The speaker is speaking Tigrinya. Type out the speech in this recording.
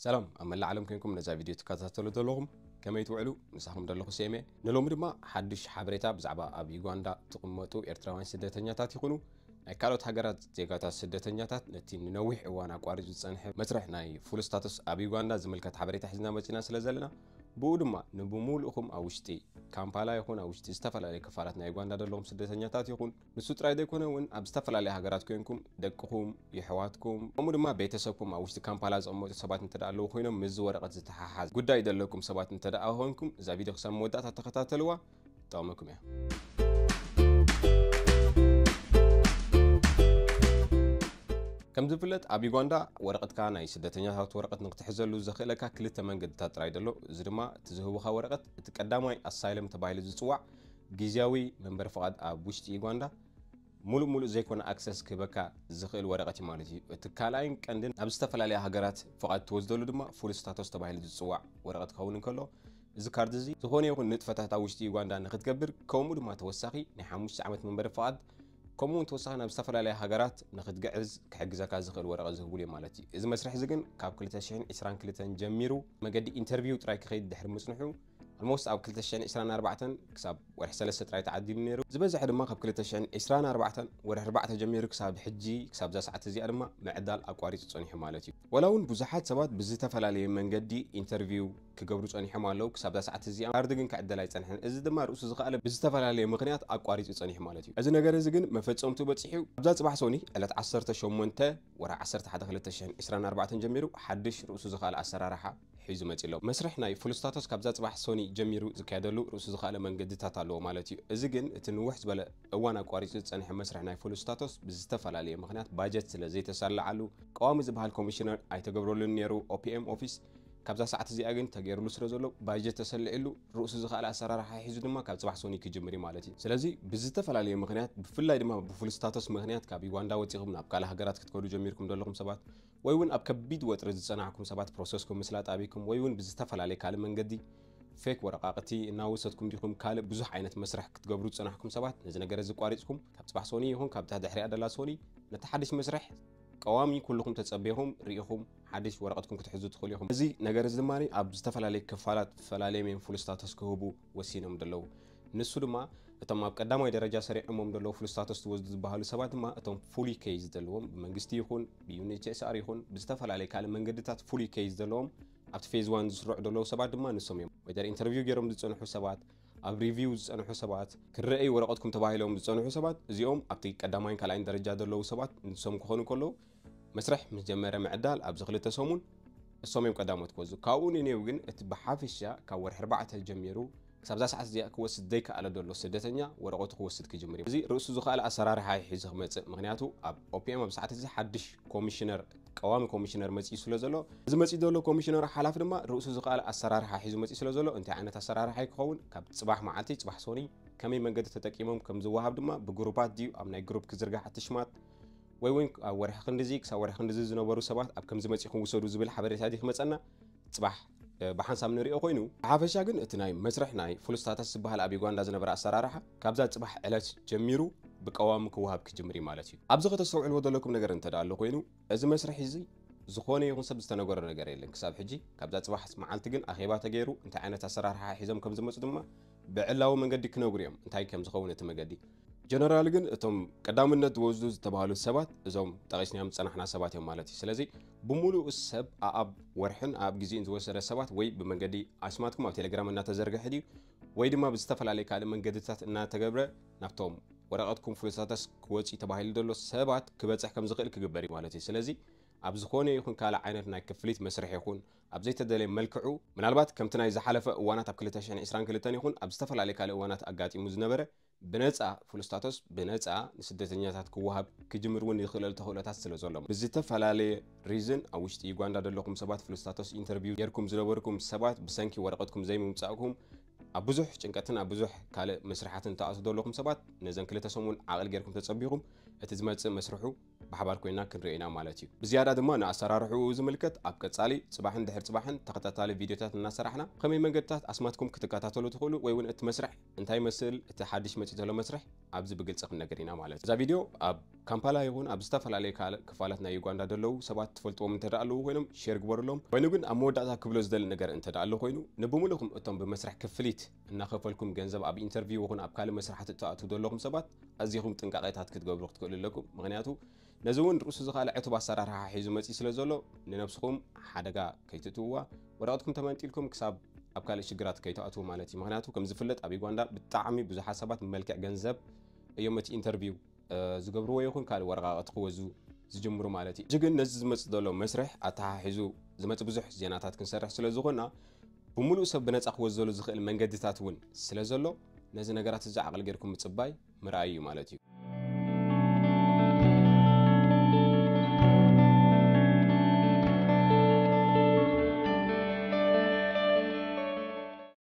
ሰላም ኣብ መላእ ዓለም ኮይንኩም ነዛ ቪድዮ ትከታተሉ ዘለኹም ከመይ ትውዕሉ? ምሳኹም ዘለኹ ሴሜ። ንሎሚ ድማ ሓድሽ ሓበሬታ ብዛዕባ ኣብ ዩጋንዳ ትቕመጡ ኤርትራውያን ስደተኛታት ይኹኑ ናይ ካልኦት ሃገራት ዜጋታት ስደተኛታት ነቲ ንነዊሕ እዋን ኣቋሪጹ ዝጸንሐ መስርሕ ናይ ፉል ስታቱስ ኣብ ዩጋንዳ ዝምልከት ሓበሬታ ሒዝና መጺና ስለ ዘለና፣ ብኡ ድማ ንብሙሉእኹም ኣብ ውሽጢ ካምፓላ ይኹን ኣብ ውሽጢ ዝተፈላለዩ ክፋላት ናይ ዩጋንዳ ዘለኹም ስደተኛታት ይኹን፣ ንሱ ጥራይ ዘይኮነ እውን ኣብ ዝተፈላለዩ ሃገራት ኮይንኩም ደቅኹም፣ የሕዋትኩም፣ ከምኡ ድማ ቤተሰብኩም ኣብ ውሽጢ ካምፓላ ዝቕመጡ ሰባት እንተ ደኣ ኣለዉ ኮይኖም፣ ምስዚ ወረቐት ዝተሓሓዝ ጉዳይ ዘለኩም ሰባት እንተ ደኣ ኮይንኩም፣ እዛ ቪድዮ ክሳብ መወዳእታ ተኸታተልዋ፣ ትጠቕመኩም እያ። ከም ዝፍለጥ፣ ኣብ ዩጋንዳ ወረቐትካ ናይ ስደተኛታት ወረቐት ንክትሕዘሉ ዘኽእለካ ክልተ መንገድታት ጥራይ ዘሎ። እዚ ድማ እቲ ዝህቡኻ ወረቐት፣ እቲ ቀዳማይ ኣሳይለም ተባሂሉ ዝጽዋዕ ግዝያዊ መንበሪ ፍቓድ ኣብ ውሽጢ ዩጋንዳ፣ ሙሉእ ሙሉእ ዘይኮነ ኣክሰስ ክህበካ ዝኽእል ወረቐት እዩ ማለት እዩ። እቲ ካልኣይን ቀንድን ናብ ዝተፈላለያ ሃገራት ፍቓድ ትወስደሉ ድማ ፉል ስታቶስ ተባሂሉ ዝጽዋዕ ወረቐት ክኸውን እንከሎ፣ እዚ ካርድ እዚ ዝኾነ ይኹን ንጥፈታት ኣብ ውሽጢ ዩጋንዳ ንክትገብር፣ ከምኡ ድማ ተወሳኺ ናይ ሓሙሽተ ዓመት መንበሪ ፍቓድ፣ ከምኡ እውን ተወሳኺ ናብ ዝተፈላለያ ሃገራት ንክትግዕዝ ክሕግዘካ ዝኽእል ወረቐት ዝህቡሉ እዮም ማለት እዩ። እዚ መስርሕ እዚ ግን ካብ ክልተ ሽሕን ዕስራን ክልተን ጀሚሩ መገዲ ኢንተርቪው ጥራይ ክኸይድ ድሕሪ ምጽንሑ፣ ኣልሞስት ኣብ ክልተ ሽሕን ዕስራን ኣርባዕተን ክሳብ ወርሒ ሰለስተ ጥራይ ተዓዲሉ ነይሩ። ዝበዝሐ ድማ ካብ ክልተ ሽሕን ዕስራን ኣርባዕተን ወርሒ ኣርባዕተ ጀሚሩ ክሳብ ሕጂ፣ ክሳብ እዛ ሰዓት እዚኣ ድማ ምዕዳል ኣቋሪጹ ጸኒሑ ማለት እዩ። ወላ እውን ብዙሓት ሰባት ብዝተፈላለየ መንገዲ ኢንተርቪው ክገብሩ ጸኒሖም ኣለዉ። ክሳብ እዛ ሰዓት እዚኣ ካርድ ግን ክዕደል ኣይጸንሐን። እዚ ድማ ርእሱ ዝኸኣለ ብዝተፈላለየ ምኽንያት ኣቋሪጹ ጸኒሑ ማለት እዩ። እዚ ነገር እዚ ግን መፈጸምቱ በጺሑ ኣብዛ ጽባሕ ሶኒ ዕለት ዓሰርተ ሸሞንተ ወርሒ ዓሰርተ ሓደ ክልተ ሽሕን ዕስራን ኣርባዕተን ጀሚሩ ሓድሽ ርእሱ ዝኸኣለ ኣሰራርሓ ሒዙ መጺ ኣሎ። መስርሕ ናይ ፉል ስታቶስ ካብዛ ጽባሕ ሶኒ ጀሚሩ ዝካየደሉ ርእሱ ዝኸኣለ መንገድታት ኣለዎ ማለት እዩ። እዚ ግን እቲ ንውሕ ዝበለ እዋን ኣቋሪጹ ዝጸንሐ መስርሕ ናይ ፉል ስታቶስ ብዝተፈላለየ ምኽንያት ባጀት ስለ ዘይተሳለዓሉ፣ ቀዋሚ ዝበሃል ኮሚሽነር ኣይተገብረሉን ነይሩ። ኦፒኤም ኦፊስ ካብዛ ሰዓት እዚኣ ግን ተገይሩሉ ስለ ዘሎ፣ ባጀት ተሰሊዕሉ፣ ርእሱ ዝኸኣለ ኣሰራርሓ ሒዙ ድማ ካብ ጽባሕ ሶኒ ክጅምር እዩ ማለት እዩ። ስለዚ ብዝተፈላለየ ምኽንያት፣ ብፍላይ ድማ ብፉል ስታቶስ ምኽንያት ካብ ዩጋንዳ ወጺኹም ናብ ካልእ ሃገራት ክትከዱ ጀሚርኩም ዘለኹም ሰባት፣ ወይ እውን ኣብ ከቢድ ወጥሪ ዝጸናሕኩም ሰባት፣ ፕሮሰስኩም ምስላጥ ኣቢኩም፣ ወይ እውን ብዝተፈላለየ ካልእ መንገዲ ፌክ ወረቓቕቲ እናወሰድኩም ዲኹም ካልእ ብዙሕ ዓይነት መስርሕ ክትገብሩ ዝጸናሕኩም ሰባት፣ ነዚ ነገር እዚ ኣቋሪጽኩም ካብ ጽባሕ ሶኒ ይኹን ካብታ ድሕሪኣ ደላ ሶኒ ነቲ ሓድሽ መስርሕ ቀዋሚ ኩልኹም ተጸቢኹም ርኢኹም ሓድሽ ወረቐትኩም ክትሕዙ ትኽእሉ ኢኹም። እዚ ነገር እዚ ድማ ኣብ ዝተፈላለዩ ክፋላት ፈላለዮም እዮም ፉል ስታተስ ክህቡ ወሲኖም ዘለዉ። ንሱ ድማ እቶም ኣብ ቀዳማይ ደረጃ ሰሪዖሞም ዘለዉ ፉል ስታተስ ትወስዱ ዝበሃሉ ሰባት ድማ እቶም ፉሊ ኬዝ ዘለዎም ብመንግስቲ ይኹን ብዩኤንኤችሲኣር ይኹን ብዝተፈላለየ ካልእ መንገድታት ፉሊ ኬዝ ዘለዎም ኣብቲ ፌዝ ዋን ዝስርዑ ዘለዉ ሰባት ድማ ንሶም እዮም። ወይደር ኢንተርቪው ገይሮም ዝጸንሑ ሰባት፣ ኣብ ሪቪው ዝጸንሑ ሰባት፣ ክረኣዩ ወረቐትኩም ተባሂሎም ዝጸንሑ ሰባት፣ እዚኦም ኣብቲ ቀዳማይን ካልኣይን ደረጃ ዘለዉ ሰባት ንሶም ክኾኑ ከለዉ፣ መስርሕ ምስ ጀመረ ምዕዳል ኣብዚ ክልተ ሰሙን እሶም እዮም ቀዳሞት ክወስዱ። ካብኡ ንኔው ግን እቲ ብሓፈሻ ካብ ወርሒ ኣርባዕተ ጀሚሩ ክሳብ እዛ ሰዓት እዚኣ ክወስድ ዘይከኣለ ዘሎ ስደተኛ ወረቐቱ ክወስድ ክጅምር እዩ። እዚ ርእሱ ዝኸኣለ ኣሰራርሓ እዩ ሒዙ ክመጽእ። ምኽንያቱ ኣብ ኦፒኤም ኣብ ሰዓት እዚ ሓድሽ ኮሚሽነር፣ ቀዋሚ ኮሚሽነር መጺኡ ስለ ዘሎ፣ እዚ መጺኡ ዘሎ ኮሚሽነር ሓላፊ ድማ ርእሱ ዝኸኣለ ኣሰራርሓ ሒዙ መጺኡ ስለ ዘሎ፣ እንታይ ዓይነት ኣሰራርሓ እዩ ክኸውን? ካብ ጽባሕ መዓልቲ፣ ጽባሕ ሶኒ፣ ከመይ መንገዲ ተጠቂሞም ከም ዝወሃብ ድማ ብግሩፓት ድዩ ኣብ ናይ ግሩፕ ክዝርጋሕ እቲ ሽማት፣ ወይ እውን ኣብ ወርሒ ክንድዚ ክሳብ ወርሒ ክንድዚ ዝነበሩ ሰባት ኣብ ከምዚ መጺኹም ውሰዱ ዝብል ሓበሬታ ድዩ ክመጸና? ጽባሕ፣ እ፣ ብሓንሳብ ንሪኦ ኮይኑ፣ ብሓፈሻ ግን እቲ ናይ መስርሕ ናይ ፉል ስታተስ ዝበሃል ኣብ ዩጋንዳ ዝነበረ ኣሰራርሓ ካብዛ ጽባሕ ዕለት ጀሚሩ ብቀዋሚ ክወሃብ ክጅምር እዩ ማለት እዩ። ኣብዚ ከተስተውዕልዎ ዘለኩም ነገር እንተ ደኣ ኣሎ ኮይኑ፣ እዚ መስርሕ እዚ ዝኾነ ይኹን ሰብ ዝተነገሮ ነገር የለን ክሳብ ሕጂ። ካብዛ ጽባሕ መዓልቲ ግን ኣኼባ ተገይሩ፣ እንታይ ዓይነት ኣሰራርሓ ሒዞም ከም ዝመጹ ድማ ብዕላዊ መንገዲ ክነግሩ እዮም፣ እንታይ ከም ዝኸውን እቲ መገዲ። ጀነራል ግን እቶም ቀዳምነት ዝወስዱ ዝተባህሉ ሰባት እዞም ጠቒስናዮም ዝጸናሕና ሰባት እዮም ማለት እዩ። ስለዚ ብምሉኡ ሰብ ኣኣብ ወርሕን ኣኣብ ግዜን ዝወሰደ ሰባት ወይ ብመንገዲ ኣስማትኩም ኣብ ቴሌግራም እናተዘርግሐ ድዩ ወይ ድማ ብዝተፈላለየ ካልእ መንገድታት እናተገብረ ናብቶም ወረቐትኩም ፉል ስታተስ ክወጽእ ተባሂሉ ዘሎ ሰባት ክበጽሕ ከም ዝኽእል ክግበር እዩ ማለት እዩ። ስለዚ ኣብ ዝኾነ ይኹን ካልእ ዓይነት ናይ ክፍሊት መስርሕ ይኹን ኣብ ዘይተደለየ መልክዑ፣ ምናልባት ከምቲ ናይ ዝሓለፈ እዋናት ኣብ ክልተ ሽሕን ዕስራን ክልተን ይኹን ኣብ ዝተፈላለየ ካልእ እዋናት ኣጋጢሙ ዝነበረ ብነጻ ፉል ስታተስ ብነጻ ንስደተኛታት ክወሃብ ክጅምር እውን ይኽእለሉ ተኽእሎታት ስለ ዘሎ፣ ብዝተፈላለየ ሪዝን ኣብ ውሽጢ ዩጋንዳ ዘለኹም ሰባት ፉል ስታተስ ኢንተርቪው ጌርኩም ዝነበርኩም ሰባት ብሰንኪ ወረቐትኩም ዘይምምጻእኩም ኣብ ብዙሕ ጭንቀትን ኣብ ብዙሕ ካልእ መስርሓትን ተኣትዉ ዘለኹም ሰባት ነዘን ክልተ ሰሙን ዓቕል ጌርኩም ተጸቢኹም እቲ ዝመጽእ መስርሑ ብሓባር ኮይና ክንሪኦ ኢና ማለት እዩ። ብዝያዳ ድማ ንኣሰራርሕኡ ዝምልከት ኣብ ቀጻሊ ጽባሕን ድሕሪ ጽባሕን ተኸታታሊ ቪድዮታት እናሰራሕና ከመይ መንገድታት ኣስማትኩም ክትከታተሉ ትኽእሉ ወይ እውን እቲ መስርሕ እንታይ ይመስል፣ እቲ ሓድሽ መጺእ ዘሎ መስርሕ ኣብዚ ብግልጺ ክንነገር ኢና ማለት እዩ። እዛ ቪድዮ ኣብ ካምፓላ ይኹን ኣብ ዝተፈላለዩ ካልእ ክፋላት ናይ ዩጋንዳ ዘለዉ ሰባት ትፈልጥዎም እንተ ደኣ ኣለዉ ኮይኖም ሼር ግበሩሎም። ኮይኑ ግን ኣብ መወዳእታ ክብሎ ዝደሊ ነገር እንተ ደኣ ኣሎ ኮይኑ ንብምሉእኩም እቶም ብመስርሕ ክፍሊት እናኸፈልኩም ገንዘብ ኣብ ኢንተርቪው ይኹን ኣብ ካልእ መስርሓት እትኣትዉ ዘለኹም ሰባት ኣዚኹም ጥንቃቄታት ክትገብሩ ክትክእሉ ኣለኩም። ምኽንያቱ ነዚ እውን ርእሱ ዝኻለ ዕቱብ ኣሰራርሓ ሒዙ መጺኡ ስለ ዘሎ ንነብስኹም ሓደጋ ከይትእትውዋ ወረቐትኩም ተመንጢልኩም ክሳብ ኣብ ካልእ ሽግራት ከይትኣትዉ ማለት እዩ። ምኽንያቱ ከም ዝፍለጥ ኣብ ዩጋንዳ ብጣዕሚ ብዙሓት ሰባት ብመልክዕ ገንዘብ እዮም እቲ ኢንተርቪው ዝገብርዎ ይኹን ካልእ ወረቓቕቲ ክወዙ ዝጅምሩ ማለት እዩ። ሕጂ ግን ነዚ ዝመጽእ ዘሎ መስርሕ ኣተሓሒዙ ዝመጽእ ብዙሕ ዜናታት ክንሰርሕ ስለ ዝኾና ብምሉእ ሰብ ብነጻ ክወዘሉ ዝኽእል መንገድታት እውን ስለ ዘሎ ነዚ ነገራት እዚ ዓቕሊ ጌርኩም ምጽባይ ምርኣይ እዩ ማለት እዩ።